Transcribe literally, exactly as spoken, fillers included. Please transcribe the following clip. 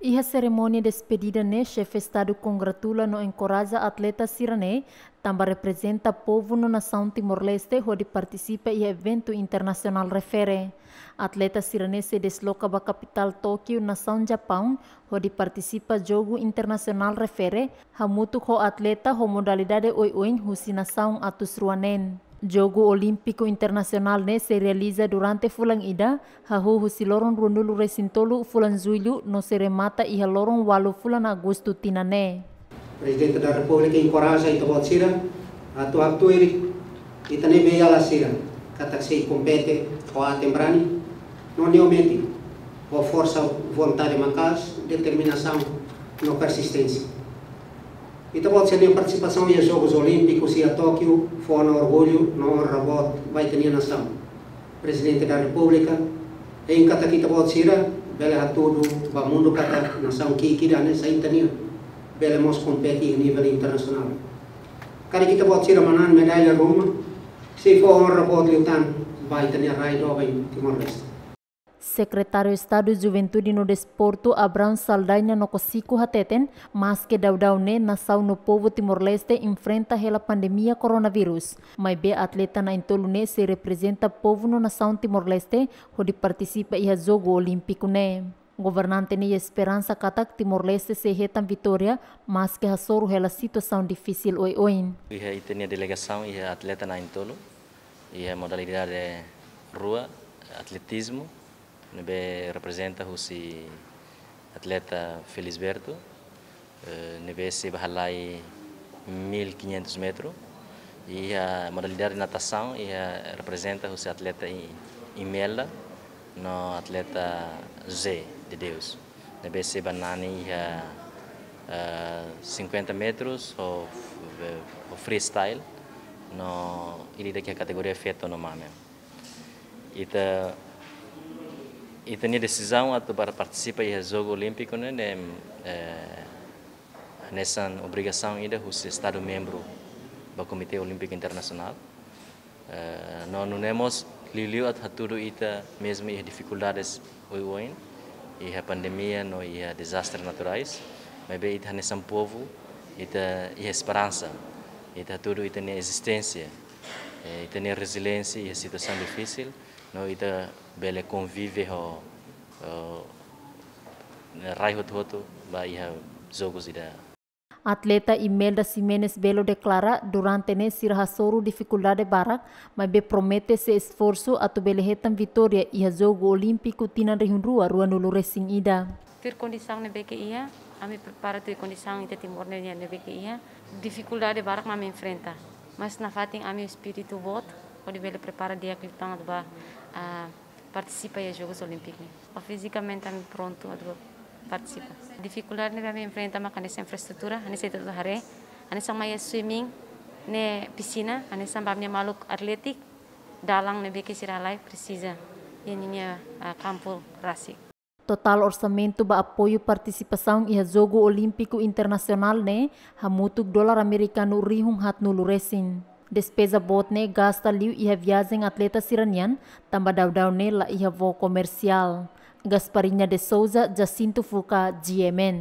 Iha serimónia despedida ne'e, Xefe Estadu kongratula no enkoraja atleta sira-ne'e, tanba reprezenta povu no nasaun Timor-Leste hodi partisipa iha eventu internasionál refere. Atleta sira-ne'e sei desloka ba kapitál Tókiu, nasaun Japaun, hodi partisipa jogu internasionál refere, hamutuk ho atleta ho modalidade oioin husi nasaun atus rua neen. Jogu Olímpiku Internasionál ne'e sei realiza durante fulan ida, hahú husi loron ruanulu-resin-tolu fulan Jullu no sei remata iha loron ualu fulan Agostu tinan ne'e. Prezidente da Repúblika enkoraja ita-boot sira atu haktuir ita-nia beiala sira katak sei kompete ho aten-brani no nia metin ho forsa vontade maka'as, determinasaun no persisténsia. Ita-boot sira-nia partisipasaun iha Jogus Olímpikus iha Tókiu fó ona orgullu no onra boot ba ita-nia nasaun. Prezidente da Repúblika hein katak ita-boot sira bele hatudu ba mundu katak nasaun ki'ik ida hanesan ita-nian bele mós kompete iha nivel internasionál. Karik ita-boot sira manán medalla ruma, sei fó onra boot liután ba ita-nia rai doben Timor-Leste. Sekretáriu Estadu Juventude no Desportu, Abraão Saldanha Nokosiku, hateten, maske daudaun ne'e nasaun no povu Timor-Leste enfrenta hela pandemia koronavírus, maibé atleta na'in-tolu ne'e sei reprezenta povu no nasaun Timor-Leste hodi partisipa iha Jogu Olímpiku ne'e. Governante ne'e iha esperansa katak Timor-Leste sei hetan vitória, maske hasoru hela situasaun difisil oioin. Iha ita-nia delegasaun iha atleta na'in-tolu, iha modalidade rua, atletizmu, ne'ebé reprezenta husi atleta Felisberto, eh, ne'ebé sei bá halai mil e quinhentos metru. Iha modalidade natasaun, iha reprezenta husi atleta I-, Imelda no atleta José de Deus, ne'ebé sei bá nani iha, eh, cinquenta metros ho, ho freestyle, no ida-idak iha kategoria feto no mame. Ita, ita-nia desizaun atu para partisipa iha Jogu Olímpiku ne'e, ne'e, eh, hanesan obrigasaun ida husi Estadu membru ba Komité Olímpiku Internasionál. Eh, no nune'e mós liuliu atu hatudu ita mezmu iha difikuldades oioin, iha pandemia no iha dezastre naturais, maibé ita hanesan povu, ita iha esperansa, ita hatudu ita-nia ezisténsia, eh, ita-nia reziliénsia iha situasaun difisil, no ita bele konvive ho, ho rai hotu-hotu ba iha jogus ida. Atleta Imelda Ximenes Belo deklara, durante ne'e sira hasoru difikuldade barak, maibé promete sei esforsu atu bele hetan vitória iha Jogu Olímpiku tinan rihun rua ruanulu-resin-ida. Tuir kondisaun ne'ebé ke iha, ami prepara tuir kondisaun ita Timor ne'e, ne'ebé ke iha. Difikuldade barak mak ami enfrenta. Mas nafatin ami espíritu boot, hodi bele prepara di'ak liután atu bá, ah, partisipa iha Jogus Olímpiku ne'e. Fizikamente ami prontu atu partisipa. Difikuldade ne'ebé ami enfrenta mak hanesan infraestrutura, hanesan ita haree, hanesan mai swimming ne'e pisina, hanesan ba ami-nia maluk atlétiku, dalan ne'ebé ke sira halai presiza iha ninia, ah, kampu rasik. Totál orsamentu ba apoiu partisipasaun iha Jogu Olímpiku Internasionál ne'e hamutuk dolar amerikanu rihun haatnulu-resin. Despeza boot ne'e gasta liu iha viajen atleta sira-nian, tanba daudaun ne'e la iha voo komersiál. Gasparinha de Souza, Jacinto Fuca, G M N.